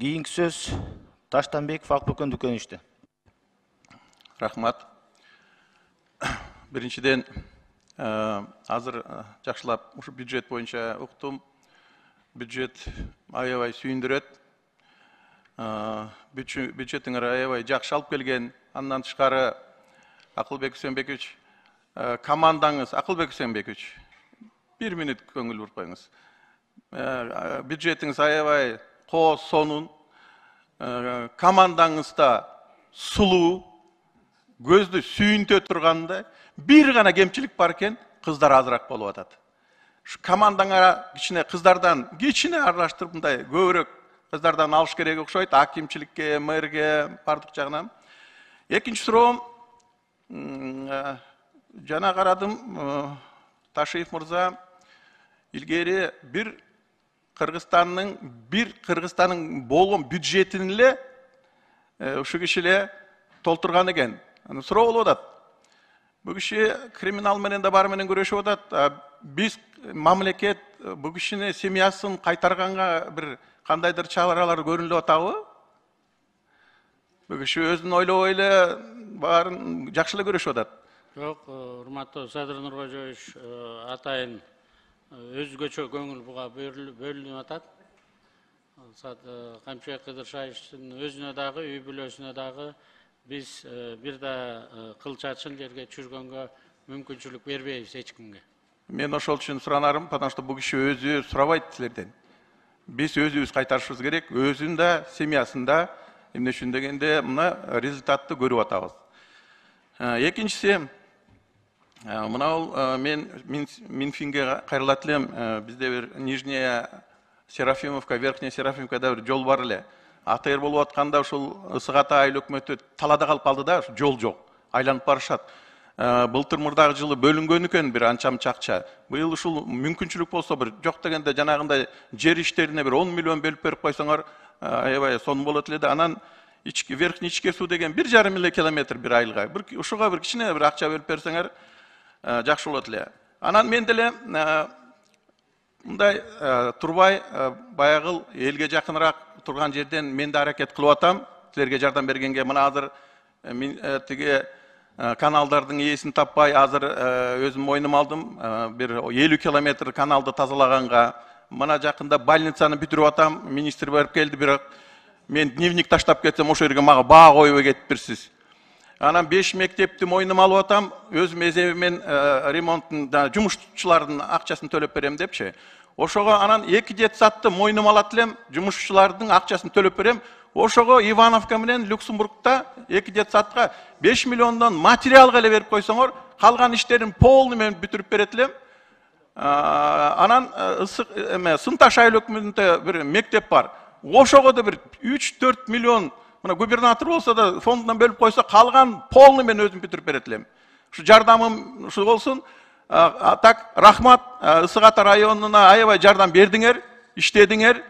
Кийинки сөз Таштанбеков Акбөкөн Дүкөнүчтө. Рахмат. Биринчиден, азыр жакшылап ушу бюджет боюнча уктум. Бюджет аябай сүйүндүрөт. Бюджеттиңер аябай жакшы алып келген. Андан тышкары Акылбек Үсөнбекович, командаңыз, Акылбек Үсөнбекович, 1 мүнөт көңүл буруп коюңуз. Бюджетиңиз аябай кооз сонун, командаңыз да сулуу, көздү сүйүнтө тургандай, бир гана кемчилик бар экен, кыздар азыраак болуп атат. Şu командаңа кичине кыздардан кичине аралаштырып мындай көбүрөөк кыздардан алыш керек окшойт, акимчиликке, мэрге, бардык жагынан. Экинчи суроом, жана карадым, Ташиев мырза илгери бир Кыргызстандын болгон бюджетин эле ушу киши эле толтурган экен. Суроо болуп атат. Бул киши криминал менен да баары менен күрөшүп атат. Биз мамлекет бул кишини семьясын кайтарганга бир кандайдыр чаралар көрүнүп атабы? Бул киши өзүн ойлобой эле баарын жакшы эле көрүшүп атат. Жок, урматтуу Садыр Нуркожоевич, атайын өзгөчө көңүл буга бөлүнүп атат. Камчыбек Кыдыршаевичтин өзүнө дагы, үй бүлөсүнө дагы биз бир да кыл чачын жерге түшүргөнгө мүмкүнчүлүк бербейбиз эч кимге. Мен ошол үчүн суранарым, потому что бул киши өзү сурабайт силерден. Биз өзүбүз кайтарышыбыз керек, өзүн да, семьясын да, эмне үчүн дегенде мына результатты көрүп атабыз. Экинчиси, мына мен Минфинге кайрылат элем, бизде бир Нижняя Серафимовка, Верхняя Серафимовкада бир жол бар эле. АТР болуп атканда ушул Ысык Ата айыл өкмөтү талада калып калды да, жол жок, айланып барышат. Былтыр мурдагы жылы бөлүнгөн экен бир анча-мынча акча. Быйыл ушул мүмкүнчүлүк болсо бир жок дегенде жанагындай жер иштерине бир 10 миллион бөлүп берип койсоңор, аябай сонун болот эле да. Анан Верхний ичке суу деген 1,5 километр бир айылга. Ушуга бир кичине бир акча бөлүп берсеңер жакшы болот эле. Анан мен деле мындай турбай баягыл элге жакыныраак турган жерден мен да аракет кылып атам. Силерге жардам бергенге мына азыр тиги каналдардын ээсин таппай, азыр өзүм мойнума алдым. Бир 50 километр каналды тазалаганга, мына жакында больницаны бүтүрүп атам. Министр барып келди, бирок мен дневник таштап кетсем, ошол жерге мага баа койбой кетипсиз. Анан 5 мектепти мойнума алып атам. Өзүм эзебимен ремонттун жумушчулардын акчасын төлөп берем депчи. Ошого анан 2 детсадты мойнума алат элем, жумушчулардын акчасын төлөп берем. Ошого Ивановка менен Люксембургда 2 детсадка 5 миллиондон материалга эле берип койсоңор, калган иштерин полный менен бүтүрүп берет элем. Анан Сынташ айыл өкмөтүндө бир мектеп бар. Ошого да бир 3-4 миллион, мына губернатор болсо да фондунан бөлүп койсо, калган полный менен өзүм бүтүрүп берет элем. Ушу жардамым ушу болсун. Так, рахмат, Ысык Ата районуна аябай жардам бердиңер, иштедиңер.